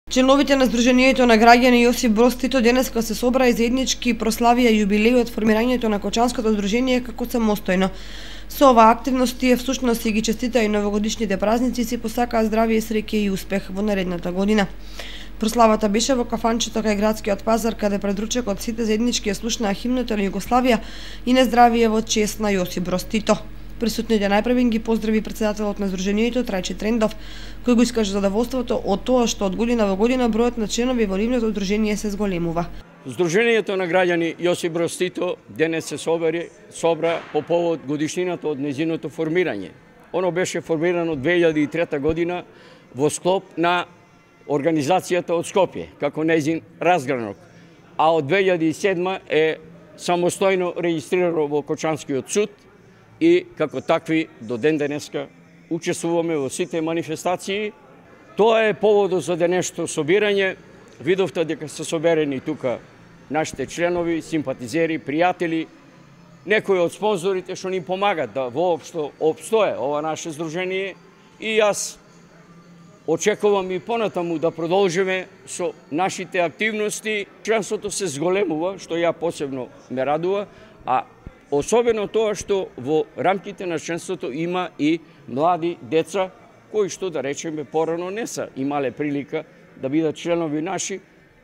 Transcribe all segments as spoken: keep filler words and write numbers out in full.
Членовите на Сдруженијето на граѓани Јосип Броз Тито денеска се собраа и заеднички прославија јубилеј од формирањето на Кочанското здружение како самостојно. Со оваа активност тие всушност си ги честитаа и новогодишните празници и си посакаа здравје, среќа и успех во наредната година. Прославата беше во кафанчето кај градскиот пазар, каде пред ручекот сите заеднички ја слушнаа химната на Југославија и на здравје во чест на Јосип Броз Тито. Присутните најпрвен ги поздрави председателот на Сдруженијето Трајче Трендов, кој го искаже задоволството од тоа што од година во година бројот на членови во нивното здружение се зголемува. Сдруженијето на граѓани Јосип Броз Тито денес се собери, собра по повод годишнината од нејзиното формирање. Оно беше формирано две илјади и трета година во склоп на организацијата од Скопје, како нејзин разгранок, а од две илјади и седма е самостојно регистрирано во Кочанскиот суд и како такви до ден денеска учествуваме во сите манифестации. Тоа е поводот за денешното собирање. Видовте дека се соберени тука нашите членови, симпатизери, пријатели, некои од спонзорите што ни помагат да воопшто опстое ова наше здружение, и јас очекувам и понатаму да продолжиме со нашите активности. Членството се зголемува, што ја посебно ме радува, а особено тоа што во рамките на членството има и млади деца, кои што, да речеме, порано не са имале прилика да бидат членови наши,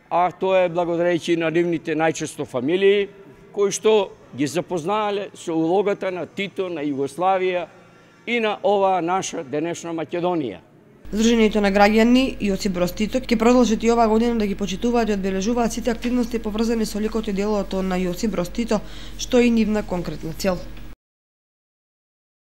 а тоа е благодарејќи на нивните најчесто фамилии, кои што ги запознаале со улогата на Тито, на Југославија и на оваа наша денешна Македонија. Сдруженијето на граѓани Јосип Броз Тито ќе продолжат и оваа година да ги почитуваат и одбележуваат сите активности поврзани со ликот и делото на Јосип Броз Тито, што е и нивна конкретна цел.